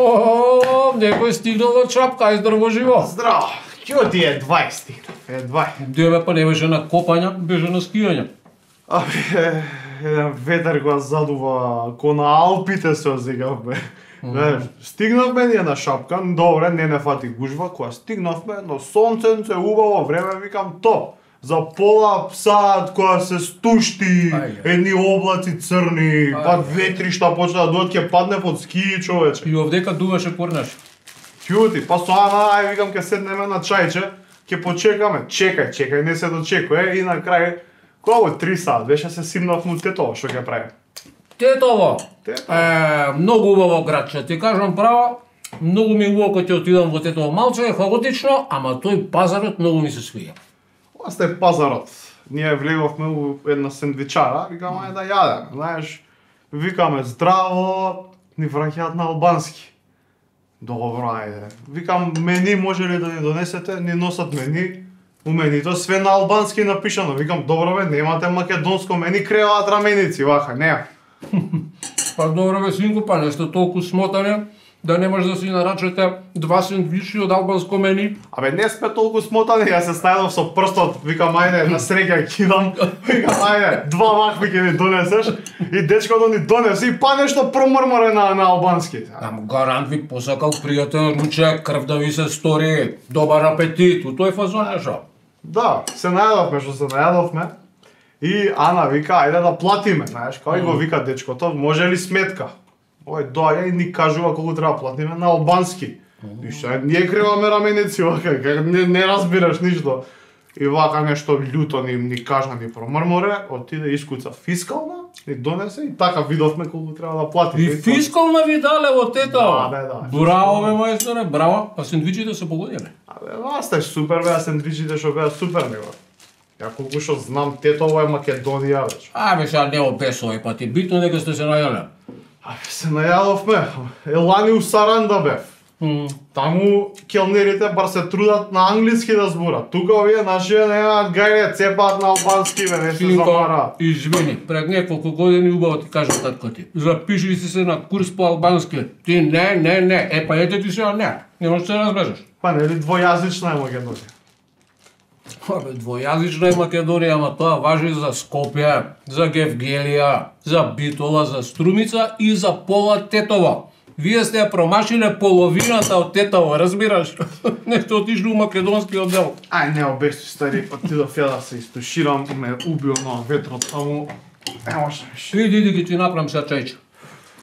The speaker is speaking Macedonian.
О, некој стигнал од Шапка, ај здраво живо. Здраво. Ќе ти е 20. Деве па не беше на копање, беше на скијање. Еден ветер го задува ко на Алпите се озигавме. Стигнавме ние на Шапка, добре, не фати гужва, кога стигнавме, но сонценце, убаво време, викам топ. За пола сат кога се стушти, едни облаци црни, па ветришта почна да дојат, ќе падне под ски, човече. И овдека дуваше корнеш. Ќути, па со Ана, ај викам ќе седнеме на чајче, ќе почекаме. Чекај, не се дочекува и на крај кога во 3 сат беше се симнавме Тетово, што ќе правиме? Тетово. Многу убаво градче, ти кажам право. Многу ми убаво кога ќе отидам во Тетово. Малце е хаотично, ама тој пазарот многу ми се свија. Оста е пазарот. Ние влеговме у една сендвичара, викаме да јадеме, знаеш. Викаме здраво, ни враќаат на албански. Добро, ајде. Викам, мени може ли да ни донесете? Ни носат мени. У менито све на албански напишано. Викам, добро бе, немате македонско мени, креваат раменици, ваха, не. Па добро бе, синко, па не сте толку смотани да не може да си нарачете 2 сендвичи од албанско мени. Абе, не сме толку смотани, јас се снајдов со прстот, викам, ајде, на среќа кидам, викам, ајде, 2 вакви ќе ми донесеш, и дечкото ни донесе, и па нешто промрморе на албански. Ам гарант ви посакал пријател ручек, крв да ви се стори, добар апетит, у тој фазон нешто. Да, се најадовме што се најадовме, и Ана вика, ајде да платиме, знаеш, кај го вика дечкото, може ли сметка? Ој доаѓа и ни кажува колку треба платиме на албански. И што ние креваме раменици, вака, не разбираш ништо. И вака нешто љуто ни кажа, ни промрморе, отиде искуца фискална, ни донесе и така видовме колку треба да платиме. И фискална ви дале во Тетово? Да. Браво бе, мајсторе, браво. А сендвичите се погодиле? Абе, сте супер беа сендвичите што беа супер него. Ја колку што знам, Тетово е Македонија веќе. Абе, сега не обесувај, па ти битно дека сте се најале. Абе, се најадовме. Елани у Саранда бев. Таму келнерите бар се трудат на англиски да зборат. Тука овие нашите немаат гајле, цепаат на албански, бе, не се замара. Извини, пред неколку години убаво ти кажа татко ти. Запиши си се на курс по албански. Ти не. Па ете ти сега не можеш да се разбежеш. Па нели двојазична е Македонија? Абе, двојазична е Македонија, ама тоа важи за Скопје, за Гевгелија, за Битола, за Струмица и за пола Тетово. Вие сте ја промашиле половината од Тетово, разбираш? Не сте отишли у македонскиот дел. Ај, не обести, стари, отидов ја да се истуширам, ме убил на ветрот, таму не може. Иди, ги ти направам сега чајче.